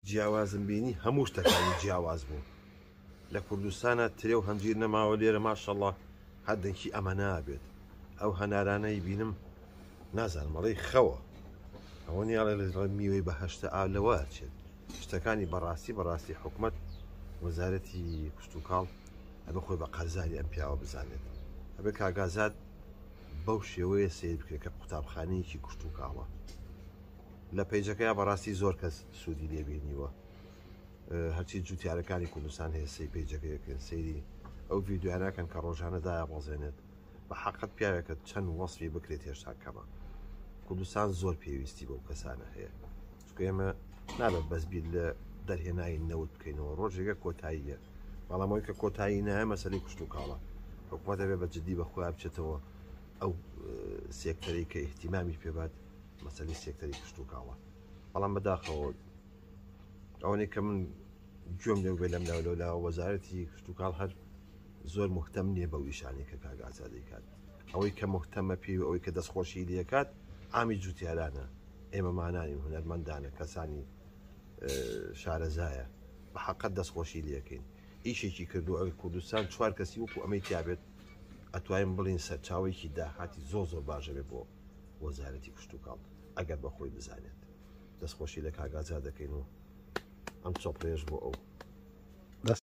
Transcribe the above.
جیاوازم بینی هەموو شتەکانی جیاواز بوو لە کوردستانە ترێ و هەنجیر نەماوە لێرە ماشەڵڵا هەر دەنکی ئەمە نابێت ئەو هەنارانەی بینم نازانم ئەڵێی خەوە ئەوە نیە ئەڵێ میوەی بەهەشتە ئا لەوە ئەچێت شتەکانی بەڕاستی بەڕاستی حکومت وەزارەتی کشتوکاڵ ئەبێ خۆی بە قەرزاری ئەم پیاوە بزانێت ئەبێ کاگازاد بەو شێوەیە سیر بکرێت کە قوتابخانەیەکی کشتوکاڵە لە پەیجەکەیا بەڕاستی زۆر کەس سوودی لێ بینیوە هەرچی جوتیارەکانی کوردستان هەیە سەی پەیجەکەیەکەن سەیری ئەو ڤیددیوانەکەن کە ڕۆژانە دایە بەزێنێت بە حەقت پیاوێکە چەند وەسفی بکرێت هێشتا کەمە کوردستان زۆر پێویستی بەو کەسانە هەیە چونکە ئێمە نابێت بەس بیر لە دەرهێنانی نەوت بکەینەوە ڕۆژێکە کۆتاییە بەڵام ئەوەی کە کۆتایی نایە مەسەلەی کشتوکاڵە حکوومەت دەبێت بە جدی بە خۆیان بچێتەوە ئەو سێکتەرەی کە ئیهتیمامی پێبات مەسەلەی سێکتەری کشتوکاڵە بەڵام بەداخەوە ئەوەی کە من گوێم لێ بێ لەم لاو لەولا وەزارەتی کشتوکاڵ هەر زۆر مهتەم نییە بەو ئیشانەی کە کاک ئازاد دەیکات ئەوەی کە مهتەمە پێی و ئەوەی کە دەستخۆشی لێکات عامی جوتیارانە ئێمەمانانی هونەرمەندانە کەسانی شارەزایە بە حەقەت دەستخۆشی لەکەین ئیشێکی کردو ئەگەر کوردستان چوار کەسی وەکو ئەمەی تیابێت ئەتوانین بڵین سەرچاوێکی داهاتی زۆر زۆر باشە بێ بۆ وەزارەتی کشتوکاڵ ئەگەر بە خۆی بزانێت دەستخۆشی لە کاگازا دەکەین و ئەم چۆپڕێژ بۆ ئەو.